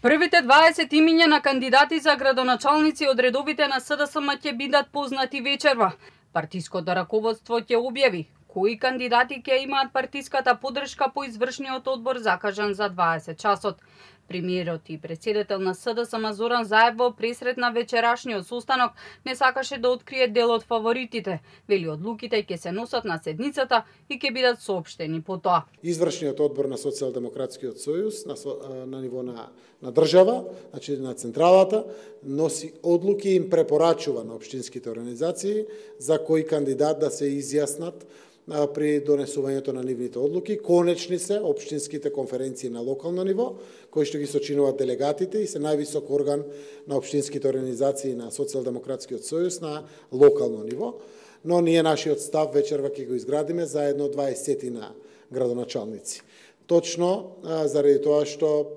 Првите 20 имиња на кандидати за градоначалници од редовите на СДСМ ќе бидат познати вечерва. Партиското раководство ќе објави кои кандидати ќе имаат партиската поддршка по извршниот одбор закажан за 20 часот. Премиерот и претседател на СДСМ Зоран Заев во пресрет на вечерашниот состанок не сакаше да открие дел од фаворитите. Вели одлуките ќе се носат на седницата и ќе бидат соопштени потоа. Извршниот одбор на Социјалдемократскиот сојуз на ниво на држава, значи на централата, носи одлуки и им препорачува на општинските организации за кои кандидат да се изјаснат при донесувањето на нивните одлуки. Конечни се општинските конференции на локално ниво, кои што ги сочинуваат делегатите и се највисок орган на општинските организации на Социјалдемократскиот сојуз на локално ниво. Но ние нашиот став вечерва ќе го изградиме заедно 20 на градоначалници. Точно заради тоа што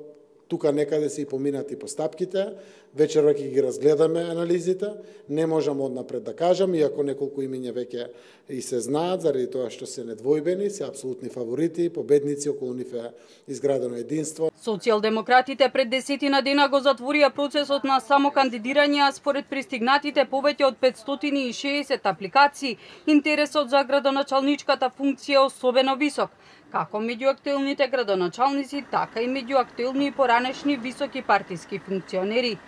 тука некаде се и поминати постапките, вечерва ќе ги разгледаме анализите, не можам однапред да кажам, иако неколку имиња веќе и се знаат, заради тоа што се недвојбени, се апсолутни фаворити, победници, околу нив е изградено единство. Социјалдемократите пред 10 дена го затворија процесот на самокандидирање, а според пристигнатите повеќе од 560 апликации, интересот за градоначалничката функција е особено висок, како меѓу актуелните градоначалници, така и меѓу актуелни и поранешни високи партиски функционери.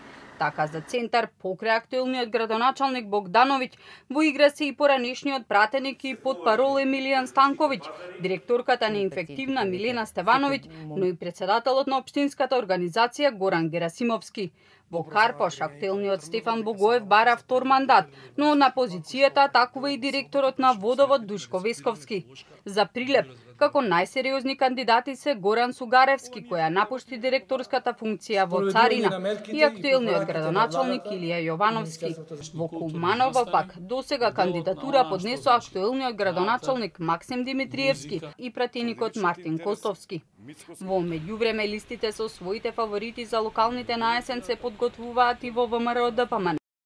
Така за центар, покрај актуелниот градоначалник Богдановиќ, во игра се и поранешниот пратеник и потпарол Емилијан Станковиќ, директорката на инфективна Милена Стевановиќ, но и претседателот на општинската организација Горан Герасимовски. Во Карпош, актуелниот Стефан Богоев бара втор мандат, но на позицијата атакува и директорот на Водовод Душко Весковски. За Прилеп, како најсериозни кандидати се Горан Сугаревски, која напушти директорската функција во Царина, и актуелниот градоначалник Илија Јовановски. Во Куманово пак досега кандидатура поднесоа актуелниот градоначалник Максим Димитриевски и пратеникот Мартин Костовски. Во меѓувреме листите со своите фаворити за локалните на есен се подготвуваат и во ВМРО ДПМН.